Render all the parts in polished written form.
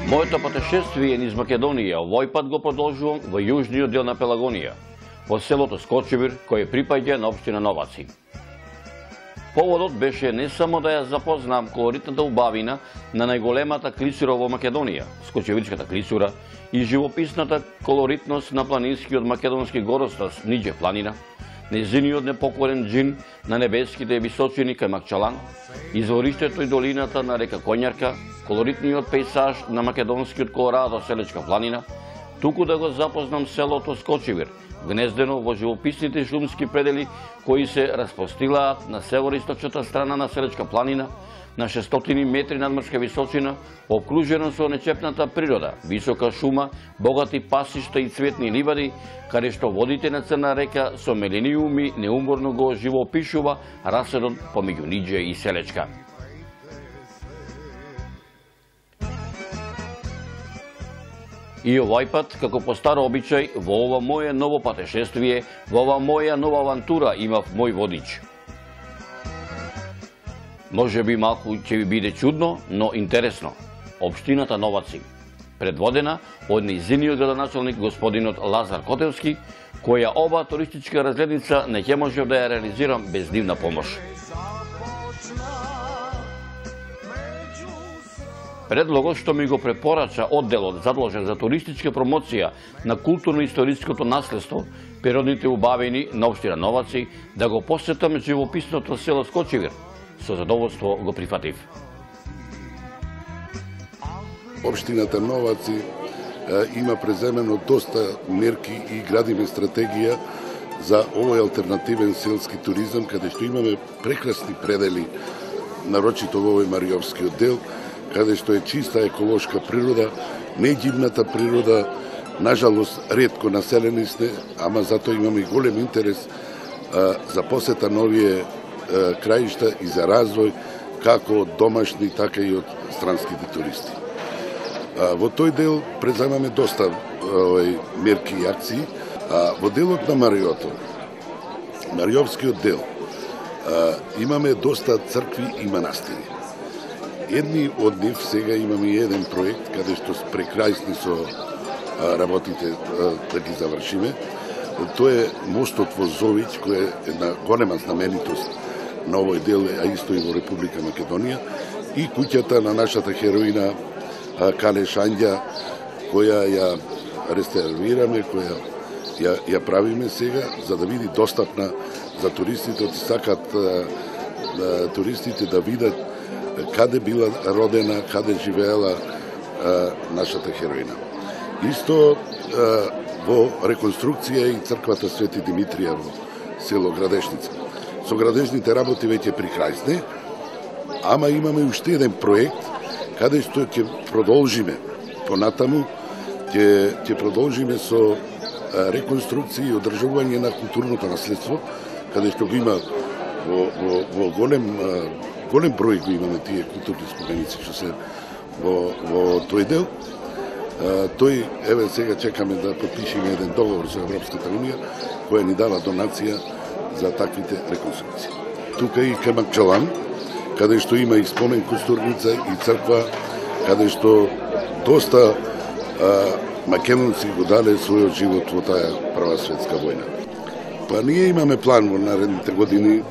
Моето патешествие низ Македонија овој пат го продолжувам во јужниот дел на Пелагонија, во селото Скочевир, кој припаѓа на општина Новаци. Поводот беше не само да ја запознам колоритната убавина на најголемата клисура во Македонија, Скочевирската клисура, и живописната колоритност на планинскиот македонски горостас Ниđe планина, незиниот непокорен џин на небеските височини кај Макчалан, извориштето и долината на река Коњарка, колоритниот пейзаж на македонскиот Колорадо Селечка планина, туку да го запознам селото Скочевир, гнездено во живописните шумски предели кои се распостилаат на североисточната страна на Селечка планина, на 600 метри надморска височина, окружено со нечепната природа, висока шума, богати пасишта и цветни ливади, каде што водите на Црна река со мелениуми неуморно го живопишува раседот помеѓу Ниđe и Селечка. И овој пат, како по стар обичај, во ова моје ново патешествие, во ова моја нова авантура имав мој водич. Може би малку ќе ви биде чудно, но интересно. Општината Новаци, предводена од нејзиниот градоначалник господинот Лазар Котевски, која ова туристичка разгледница не ќе можев да ја реализирам без нивна помош. Предлогот што ми го препорача одделот задолжен за туристичка промоција на културно-историското наследство, природните убавини на општина Новаци, да го посетам живописното село Скочевир, со задоволство го прифатив. Општината Новаци има преземено доста мерки и градиме стратегија за овој алтернативен селски туризам, каде што имаме прекрасни предели, нарочито во овој Мариовскиот дел, каде што е чиста еколошка природа, неѓивната природа, нажалост ретко населени сте, ама затоа имаме и голем интерес за посета на овие краишта и за развој, како од домашни, така и од странските туристи. Во тој дел преземаме доста мерки и акции. Во делот на Мариото, Мариовскиот дел, имаме доста цркви и манастири. Едни од нив сега имаме еден проект, каде што прекрајсни со работите да ги завршиме. Тоа е мостот во Зовиќ, кој е една голема знаменитост на овој дел, а исто и во Република Македонија, и куќата на нашата хероина Кале Шања, која ја реставрираме, која ја правиме сега, за да биде достапна за туристите, од сакат туристите да видат каде била родена, каде живеела нашата хероина. Исто во реконструкција и црквата Свети Димитрија во село Градешница. Со градежните работи веќе при крај сте, ама имаме уште еден проект каде што ќе продолжиме понатаму, ќе продолжиме со реконструкција и одржување на културното наследство, каде што го има во голем број го имаме тие културни споменици што се во тој дел. Тој, еве сега чекаме да подпишеме еден договор со Европската унија, која ни дава донација за таквите реконструкции. Тука и кај Макчалан, каде што има и спомен костурница и црква, каде што доста македонци го дале својот живот во таа прва светска војна. Па ние имаме план во наредните години,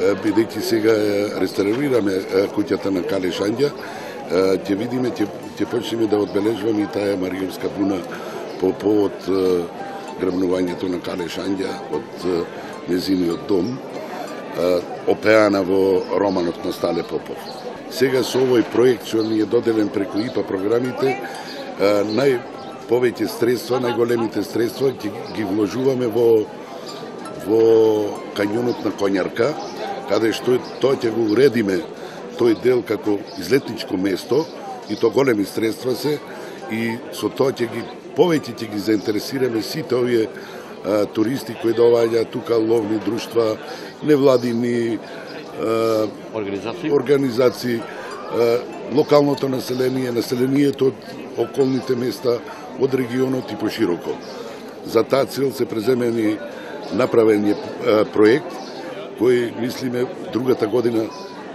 бидејќи сега реставрираме куќата на Кале Шања, ќе видиме, ќе почнеме да одбележуваме и таа Мариовска буна по повод грабнувањето на Кале Шања од незиниот дом, опеана во романот на Стале Попов. Сега со овој проект што ни е доделен преку ИПА програмите, најповеќе средства, најголемите средства ги вложуваме во кањонот на Коњарка, каде што тоа ќе го уредиме тој дел како излетничко место, и то големи средства се, и со тоа повеќе ќе ги заинтересираме сите овие туристи кои доаѓаат тука, ловни друштва, невладини организации, локалното население, населението од околните места, од регионот и пошироко. За таа цел се преземени направен проект кој мислиме другата година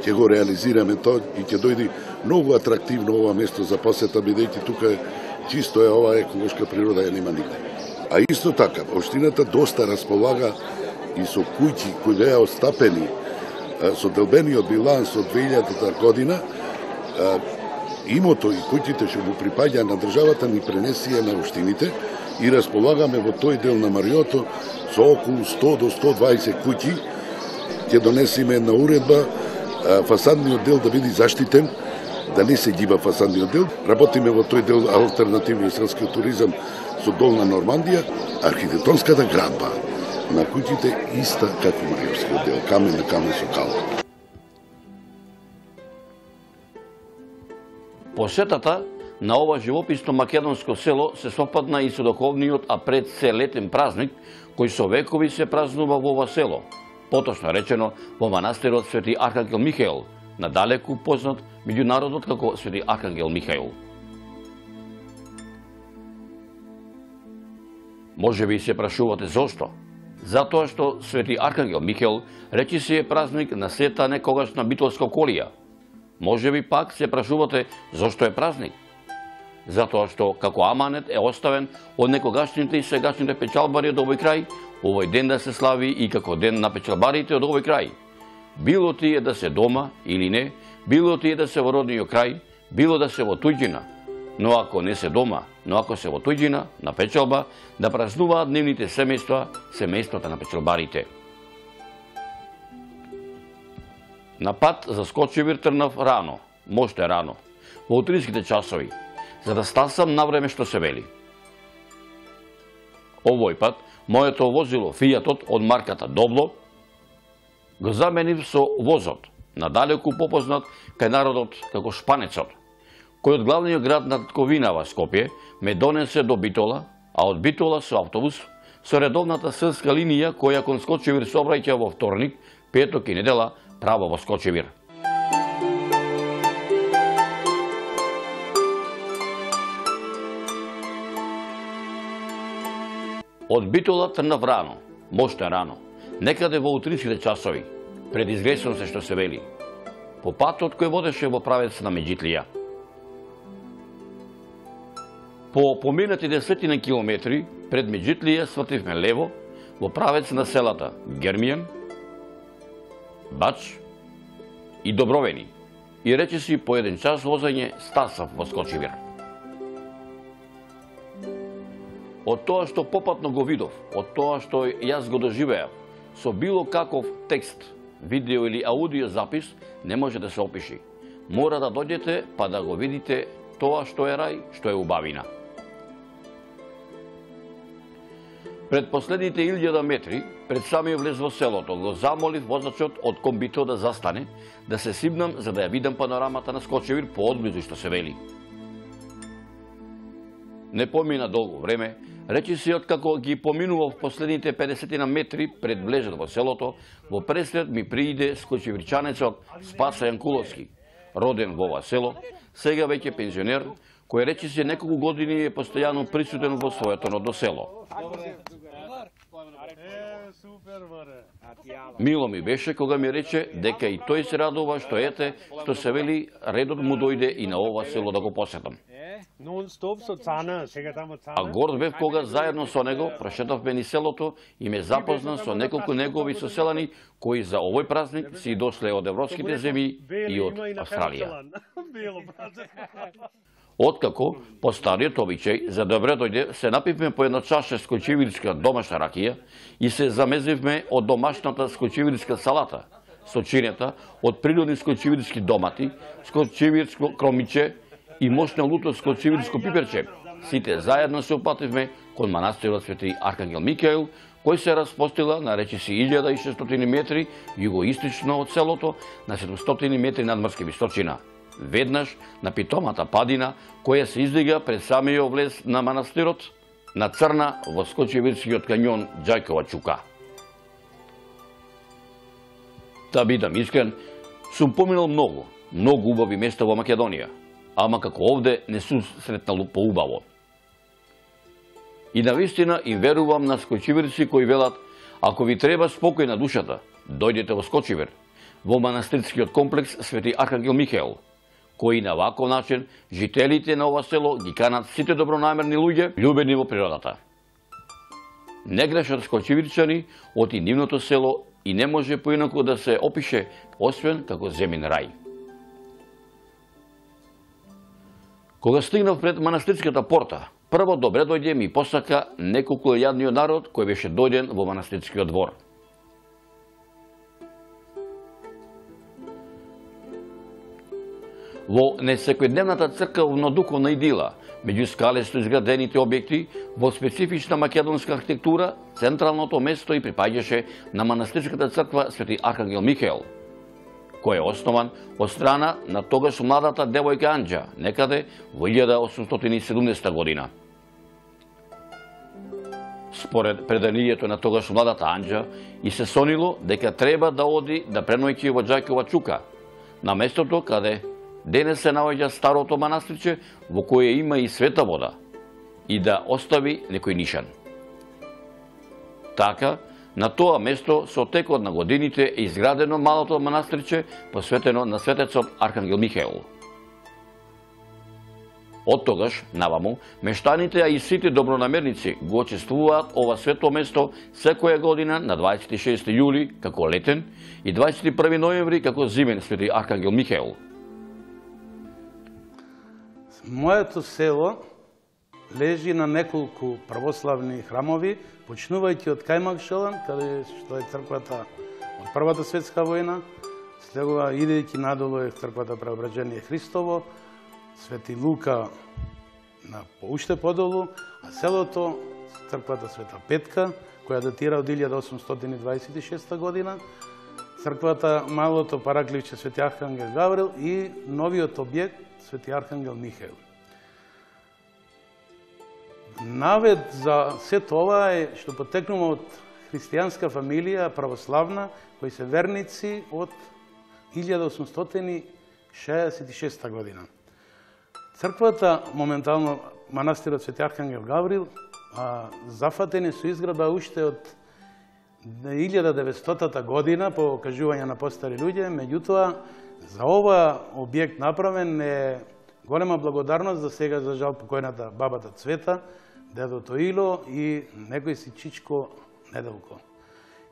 ќе го реализираме тоа и ќе дојде многу атрактивно ова место за посета, бидејќи тука е чисто е ова еколошка природа ја нема нигде. А исто така, општината доста располага и со куќи кои беа остапени со делбениот биланс од 2000 година. Имото и куќите што му припаѓа на државата ни пренесија на општините и располагаме во тој дел на Мариото со околу 100 до 120 куќи. Ќе донесеме една уредба фасадниот дел да биде заштитен, да не се гиба фасадниот дел. Работиме во тој дел алтернативниот селскиот туризам со Долна Нормандија, архитектонската градба на куќите иста како Мариовскиот дел, камен на камен со кал. Посетата на ова живописно македонско село се совпадна и со духовниот, а пред се летен празник, кој со векови се празнува во ова село, поточно речено во манастирот Свети Архангел Михаил, надалеку познат меѓу народот како Свети Архангел Михаил. Може би се прашувате зошто? Затоа што Свети Архангел Михаил речиси е празник на сета некогашна битолска околија. Може би пак се прашувате зошто е празник? Затоа што како аманет е оставен од некогашните и сегашните печалбари од овој крај, овој ден да се слави и како ден на печалбарите од овој крај. Било тие да се дома или не, било тие да се во родниот крај, било да се во туѓина. Но ако не се дома, но ако се во туѓина, на печалба, да празнуваат нивните семејства, семејствата на печалбарите. На пат за Скочевир тргнав рано, можете рано, во утринските часови, за да стасам на време што се вели. Овој пат, моето возило Фијатот од марката Добло го заменив со возот, надалеку попознат кај народот како Шпанецот, кој од главниот град на татковинава Скопје ме донесе до Битола, а од Битола со автобус со редовната селска линија која кон Скочевир сообраќа во вторник, петок и недела право во Скочевир. Од Битола тргнав рано, можете рано, некаде во утринските часови, пред известно се што се вели, по патот кој водеше во правец на Меджитлија. По поминати 10 километри пред Меджитлија свртивме лево во правец на селата Гермијан, Бач и Добровени и речиси по 1 час возење стасав во Скочевир. Од тоа што попатно го видов, од тоа што јас го доживеав, со било каков текст, видео или аудио запис, не може да се опиши. Мора да дојдете па да го видите тоа што е рај, што е убавина. Пред последните 1000 метри, пред самиот влез во селото, го замолив возачот од комбито да застане, да се сибнам за да ја видам панорамата на Скочевир поодблизу што се вели. Не помина долго време, речиси откако ги поминував последните 50 метри пред влезот во селото, во пресред ми прииде скочевирчанецот Спаса Јанкуловски, роден во ова село, сега веќе пензионер, кој речиси неколку години е постојано присутен во своето родно село. Мило ми беше кога ми рече дека и тој се радува што ете, што се вели редот му дојде и на ова село да го посетам. А горд бев кога заедно со него прошетавме низ селото и ме запозна со неколку негови соселани кои за овој празник си дошле од европските земји и од Австралија. Откако, по стариот обичај, за добре дојде, се напивме по една чаша скочевирска домашна ракија и се замезивме од домашната скочевирска салата, со чинета од природни скочевирски домати, скочевирско кромиче и мощно луто скочевирско пиперче. Сите заедно се упативме кон манастирот Свети Архангел Михаил, кој се распостила на речиси 1600 метри југоистично од селото, на 700 метри надморска височина. Веднаш на питомата падина, која се издига пред самиот влез на манастирот, на црна во Скочевирскиот кањон Ѓајкова чука. Да бидам искрен, сум поминал многу убави места во Македонија, ама како овде не сум сретнал поубаво. И навистина им верувам на скочевирци кои велат, ако ви треба спокој на душата, дојдете во Скочевир. во манастирскиот комплекс Свети Архангел Михаел, кои на ваков начин жителите на ова село ги канат сите добронамерни луѓе, љубени во природата. Не грешат скочевирчани од и нивното село и не може поинаку да се опише, освен како земен рај. Кога стигнав пред манастирската порта, прво добре дојде ми посака неколку јадниот народ кој беше дојден во манастирскиот двор. Во несекојдневната црковно-духовна идила, меѓу скалесто изградените објекти, во специфична македонска архитектура, централното место и припаѓаше на манастирската црква Свети Архангел Михаел, кој е основан од страна на тогаш младата девојка Анџа, некаде во 1870 година. Според преданието на тогаш младата Анџа, и се сонило дека треба да оди да преноќи во Џајкова чука, на местото каде денес се наоѓа старото манастирче во кое има и света вода, и да остави некој нишан. Така, на тоа место со текот на годините е изградено малото манастирче посветено на светецот Архангел Михаел. Од тогаш, наваму, мештаните, а и сите добронамерници го очествуваат ова свето место секоја година на 26 јули како летен и 21 ноември како зимен Свети Архангел Михаел. Моето село лежи на неколку православни храмови, почнувајќи од Кајмакшалан, каде што е црквата од Првата светска војна, следува идејќи надолу е црквата Преображение Христово, Свети Лука на уште подолу, а селото црквата Света Петка, која датира од 1826 година, црквата малото паракливче Свети Архангел Гаврил и новиот објект Свети Архангел Михаел. Навет за се тоа е што потекнува од христијанска фамилија, православна, кои се верници од 1866 година. Црквата, моментално манастирот Свети Архангел Гаврил, зафатени со изградба уште од 1900 година по кажување на постари луѓе, меѓутоа за ова објект направен е голема благодарност за сега за жал покојната бабата Цвета, дедото Ило и некој си Чичко Неделко.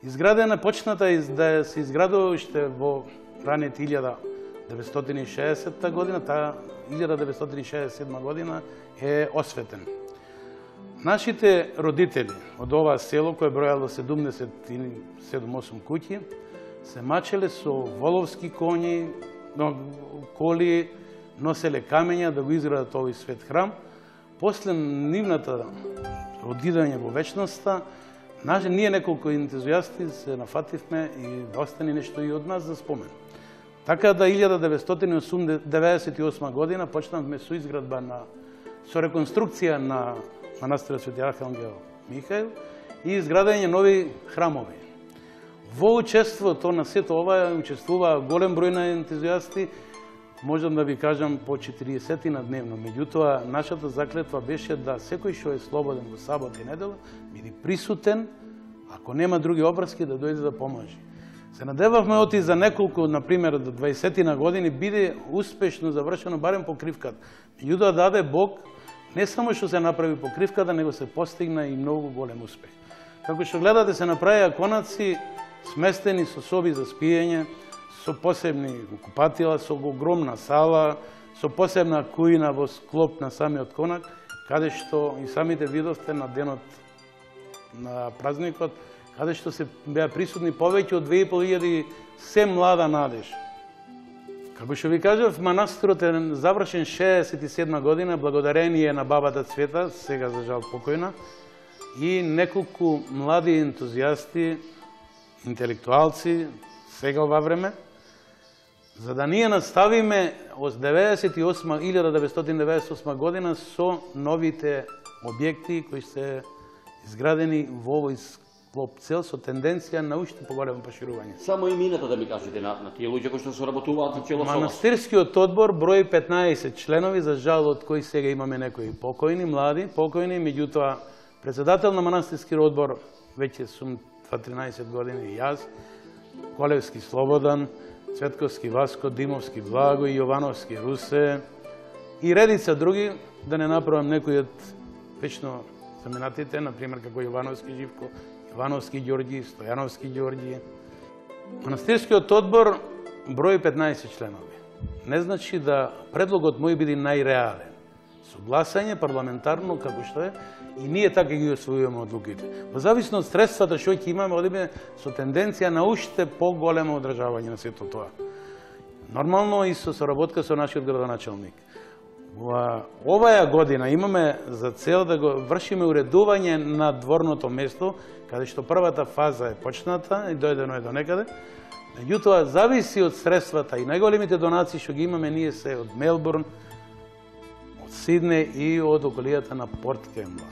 Изградена почната да се изградува уште во раните 1960 година, таа 1967 година е осветен. Нашите родители од оваа село, кој бројало 77-8 куќи, се мачеле со воловски коњи, коли, носеле камења да го изградат овој свет храм. После нивната одидање во вечноста, ние неколку ентузијасти се нафативме и да остане нешто и од нас за спомен. Така да 1998 година почнавме со изградба со реконструкција на манастирот Свети Архангел Михаел и изградење нови храмови. Во учеството на сето ова учествува голем број на ентузијасти, можам да ви кажам по 40 на дневно. Меѓутоа, нашата заклетва беше да секој што е слободен во сабот и недела биде присутен, ако нема други обврски, да дојде да помажи. Се надевавме оти за неколку, например, до 20 на години, биде успешно завршено барем покривката. Меѓутоа даде Бог не само што се направи покривката, него се постигна и многу голем успех. Како што гледате, се направија конаци сместени со соби за спиење, со посебни купатила, со огромна сала, со посебна кујна во склоп на самиот конак, каде што и самите видовте на денот на празникот, каде што се беа присутни повеќе од 2500 се млада надеж. Како што ви кажав, манастирот е завршен 67 година, благодарение на бабата Цвета, сега за жал покојна, и неколку млади ентузијасти, интелектуалци, сега ова време, за да ние наставиме од 1998 година со новите објекти кои се изградени во овој склоп цел со тенденција на уште поголемо поширување. Само имината да ми кажете на тие луѓе кои што се работуваат на чело со вас. Манастирскиот одбор брои 15 членови, за жал од кои сега имаме некои покојни, млади, покојни, меѓутоа председател на манастирскиот одбор веќе сум 13 години и јас, Колевски Слободан, Цветковски, Васко, Димовски, Благо и Јовановски, Русе и редица други, да не направам некои од вечно заминатите, например како Јовановски Живко, Јовановски Ѓорѓи, Стојановски Ѓорѓи. Манастирскиот одбор брои 15 членови. Не значи да предлогот мој биде најреален. Со гласање парламентарно како што е, и ние така ги освојуваме одлуките. Во зависно од средствата што ќе имаме, одиме со тенденција на уште поголемо одржавање на сето тоа. Нормално и со соработка со нашиот градоначалник. Во оваа година имаме за цел да го вршиме уредување на дворното место, каде што првата фаза е почната и дојдено е до некаде. Меѓутоа, зависи од средствата и најголемите донации што ги имаме ние се од Мелбурн, од Сидне и од околијата на Порт Кембла.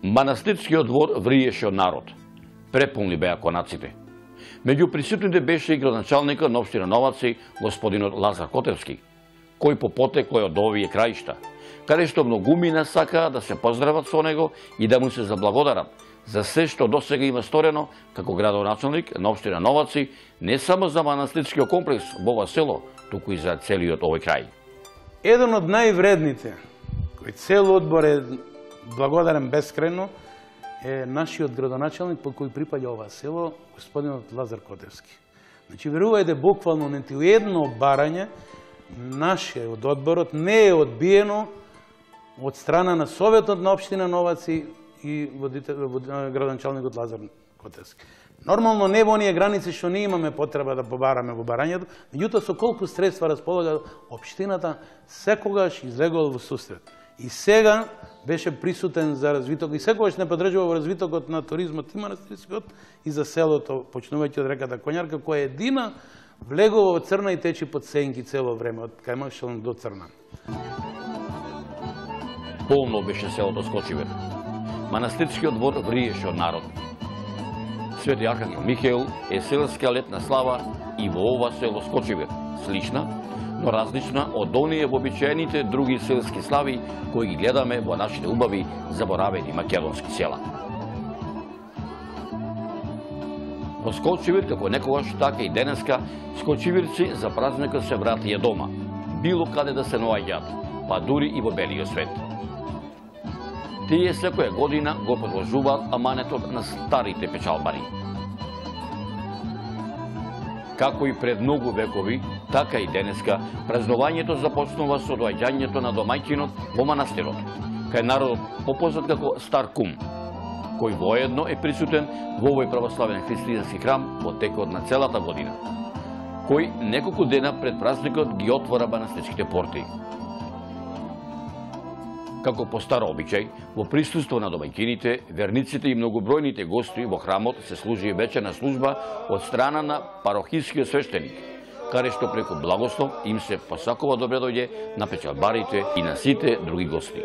Манастирскиот двор вриеше од народ. Преполни беа конаците. Меѓу присутните беше и градоначалникот на општина Новаци, господинот Лазар Котевски, кој по потекло е од овие краишта, каде што многумина сакаа да се поздрават со него и да му се заблагодарат за се што досега има сторено како градоначалник на општина Новаци, не само за манастирскиот комплекс во ова село, туку и за целиот овој крај. Еден од највредните, кој цел одбор е благодарен бескрајно, е нашиот градоначалник по кој припаѓа ова село, господинот Лазар Котевски. Значи, верувајте, буквално нити едно барање наше од одборот не е одбиено од страна на Советот на општина Новаци и градоначалникот Лазар Котевски. Нормално не во оние граници што ние имаме потреба да побараме во барањето, меѓутоа со колку средства располага општината, секогаш излегувал во сусрет. И сега беше присутен за развиток и секогаш не поддржува во развитокот на туризмот и манастирскиот и за селото, почнувајќи од реката Коњарка, која едина влегува во Црна и течи под сенки цело време, од Кајмакшалн до Црна. Полно беше селото Скочивир. Манастирскиот двор вриеше од народ. Свети Архангел Михаил е селска летна слава и во ова село Скочивир, слична, но различна од оние вообичаените други селски слави кои ги гледаме во нашите убави заборавени македонски села. Во Скочивир, како некогаш, така и денеска, скочивирци за празникот се вратија дома, било каде да се наоѓаат, па дури и во белиот свет. Тие секоја година го продолжуваат аманетот на старите печалбари. Како и пред многу векови, така и денеска, празнувањето започнува со доаѓањето на домајќинот во манастирот, кај народот попознат како Стар Кум, кој воедно е присутен во овој православен христијански храм во текот на целата година, кој неколку дена пред празникот ги отвора манастирските порти. Како по стар обичај, во присуство на домајќините, верниците и многобројните гости во храмот се служи вечерна служба од страна на парохискиот свештеник, каде што преку благослов им се посакува добре дојде на печалбарите и на сите други гости.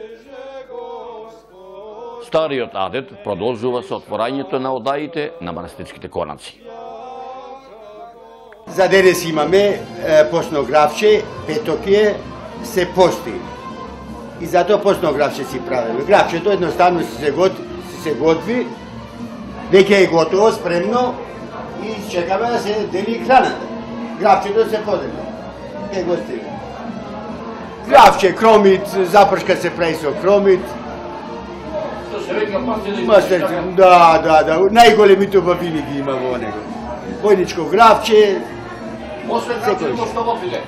Стариот адет продолжува со отворањето на одаите на манастирските конаци. За денес имаме постно графче, петокје, се пости. И затоа постно графче си правиме. Графчето едноставно се готви, веќе е готово, спремно и чекаме да се дели храната. Графчето се подели. Ке го стига. Графче, кромит, запршка се прави со кромит. Да. Најголемите убавини ги има во него. Војничко графче. Освен графче, што во филе?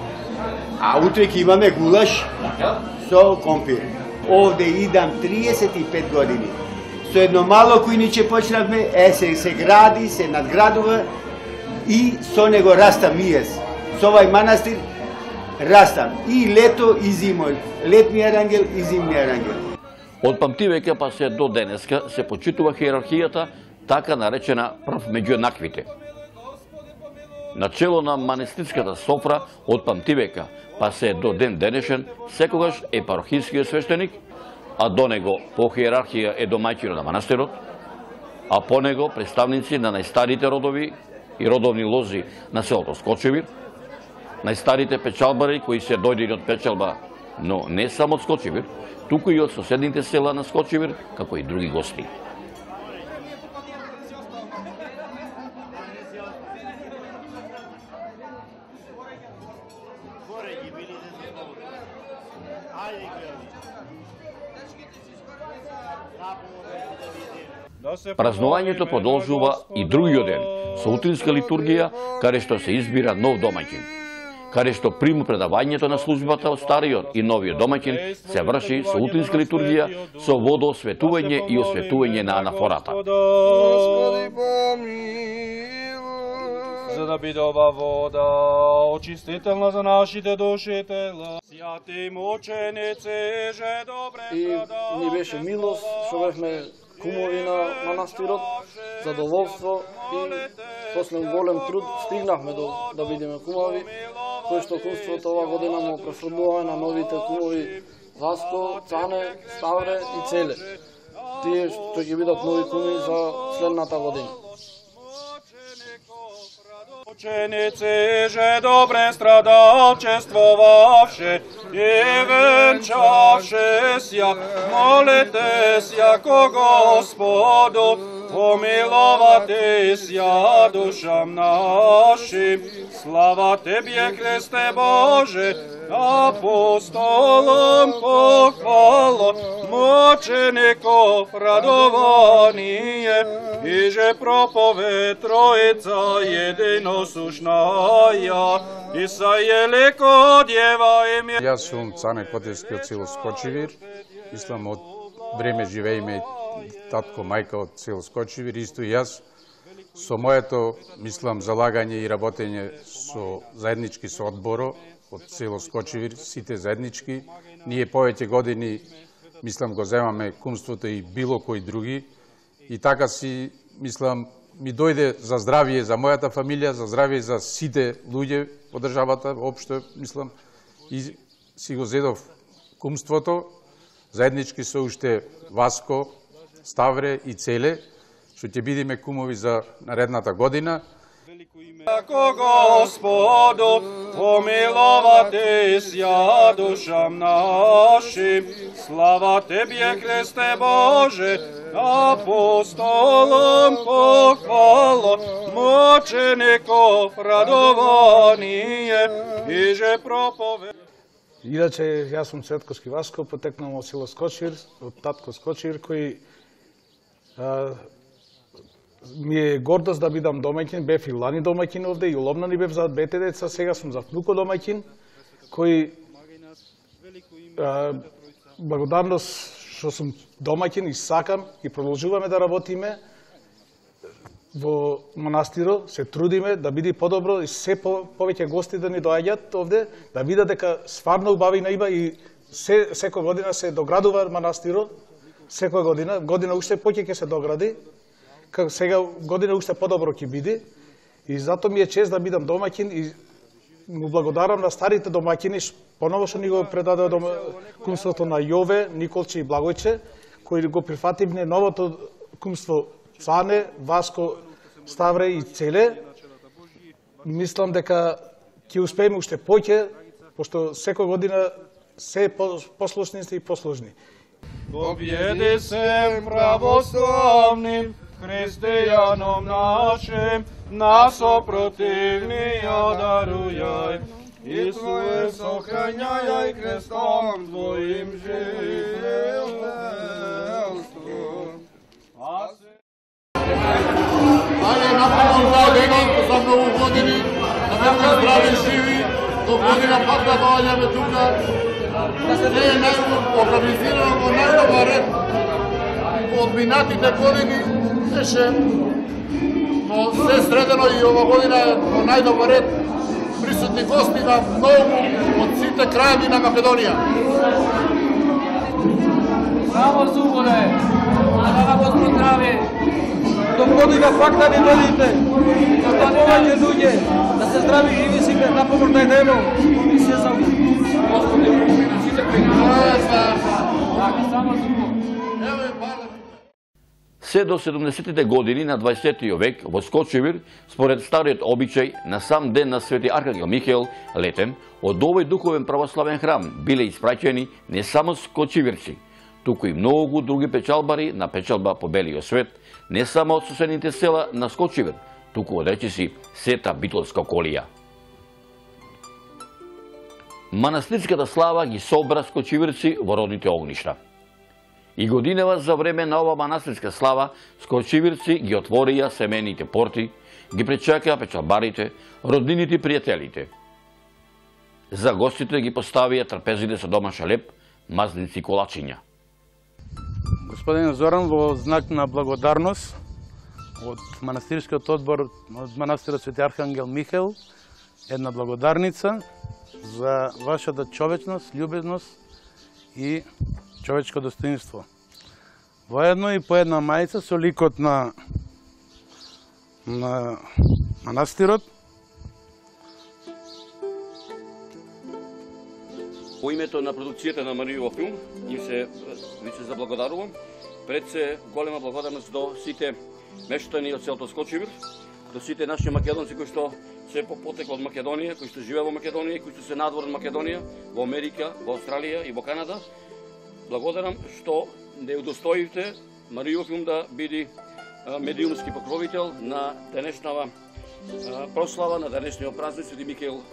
А утре ќе имаме гулаш со компир. Овде идам 35 години. Со едно мало кујниче почнавме, се гради, се надградува и со него растам и јас. Со овај манастир растам и лето и зимо. Летниот арангел и зимниот арангел. Од памтивека па се до денеска се почитува хиерархијата, така наречена прв меѓу еднаквите. Начело на манастирската софра од памтивека па се до ден денешен секогаш е парохискиот свештеник, а до него по хиерархија е домајќинот на манастирот, а по него представници на најстарите родови и родовни лози на селото Скочивир, најстарите печалбари кои се дојдени од печалба, но не само од Скочивир, туку и од соседните села на Скочивир, како и други гости. Празнувањето продолжува и другиот ден со утринска литургија, каде што се избира нов домаќин. Каде што приму предавањето на службата од стариот и новиот домаќин се врши со утринска литургија, со водоосветување и осветување на анафората. За да биде ова вода очистителна за нашите души тела. Свјати мученици, же добре и ни беше милост што бевме кумови на манастирот, задоволство и после голем труд стигнахме да бидеме кумови, кои што кумството ова година му префрлува на новите кумови Васко, Цане, Ставре и Целе. Тие што ќе бидат нови куми за следната година. Ученици же добре страдалчествовавши и венчавши ся, молите ся ко Господу, помиловати ся душам нашим. Слава Тебе, Христе Боже, апостолам похвала, мучеников радование, и же проповед Троица единосушная, и сајелеко Дева име. Јас сум Цане Котевски од село Скочивир, мислам од време живееме татко, мајка од село Скочивир, исто и јас. Со моето, мислам, залагање и работење заеднички со одборо од село Скочивир, сите заеднички, ние повеќе години, мислам, го земаме кумството и било кои други, и така си, мислам, ми дојде за здравие за мојата фамилија, за здравие за сите луѓе во државата, општо, мислам, и си го зедов кумството, заеднички со уште Васко, Ставре и Целе, што ќе бидеме кумови за наредната година. Ко Господу, помиловати ся душам нашим, слава Тебе, Христе Боже, апостолам похвала, мучеников радование, и же проповед. Иначе, јас сум Цветковски Васко, потекнам од село Скочивир, од татко Скочивир, кој ми е гордост да бидам домаќин, бев и лани домаќин овде, и уловна ни бев за двете деца, сега сум за внуко домаќин, кој благодарност што сум домаќин и сакам и продолжуваме да работиме во манастирот, се трудиме да биде подобро и се повеќе гости да ни доаѓаат овде, да видат дека стварно убавина има и секоја година се доградува манастирот, секоја година уште поќе ќе се догради, како сега година уште подобро ќе биде, и затоа ми е чест да бидам домаќин и му благодарам на старите домаќини, поново што ни го предадоа кумството на Јове, Николче и Благојче, кои го прифативме новото кумство Цане, Васко, Ставре и Целе. Мислам дека ќе успееме уште поќе, пошто секоја година се послушни и послужни. Победи се православним христијаном нашим, нас опротивнија дарујај. Исуе, сохрањај крестом Твоим живелство. Ајде, напредно заедно, за многу години, да бевме здрави и живи, до година пак да доаѓаме тука. Не е организирано во најдобар ред. Од минатите години беше, но се средено и ова година во најдобар ред. Присутни гости на многу од сите крајеви на Македонија. Само зуборе, да на Господ здраве. До година пак да ни додите, да повеќе луѓе, да се здрави живи сите, да помогне небо и се за Господи, сите Се до 70-тите години на 20 век во Скочивир, според стариот обичај, на сам ден на Свети Архангел Михаел, летем, од овој духовен православен храм биле испраќени не само скочивирци, туку и многу други печалбари на печалба по белиот свет, не само од соседните села на Скочивир, туку од речиси сета битолска околија. Манастирската слава ги собра скочивирци во родните огништа. И годинава за време на ова манастирска слава, скочивирци ги отворија семените порти, ги пречакаа печалбарите, роднините и пријателите. За гостите ги поставија трапезите со домашен леп, мазници и колачиња. Господин Зоран, во знак на благодарност од манастирскиот одбор од манастирот Свети Архангел Михаил, една благодарница за вашата човечност, љубезност и човечко достоинство. Воедно и по една мајца со ликот на манастирот. По името на продукцијата на Маријов филм, ви се заблагодарувам. Пред се голема благодарност до сите мештани од селото Скочивир, до сите наши македонци кои што се по потекло од Македонија, кои што живеат во Македонија и кои што се надвор од Македонија, во Америка, во Австралија и во Канада. Благодарам што не удостоивте Маријов филм да биде медиумски покровител на денешнава прослава, на денешниот празник Свети Михаил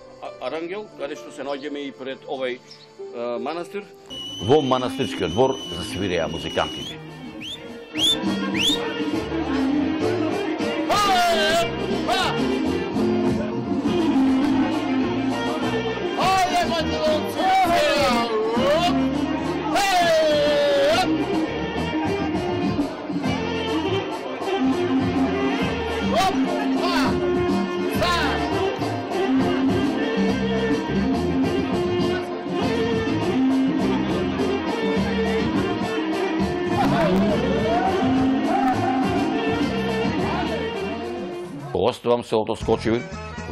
Арангел, каде што се наоѓаме и пред овој манастир. Во манастирскиот двор засвиреа музикантите. Оставам селото Скочивир,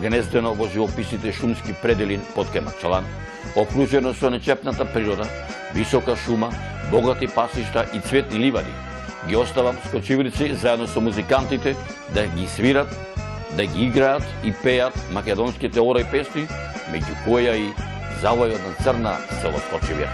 гнездено во живописните шумски предели под Кемачалан, окружено со нечепната природа, висока шума, богати пасишта и цветни ливади. Ги оставам скочивирци заедно со музикантите да ги свират, да ги играат и пеат македонските ора и песни, меѓу која и завојот на црна село Скочивир.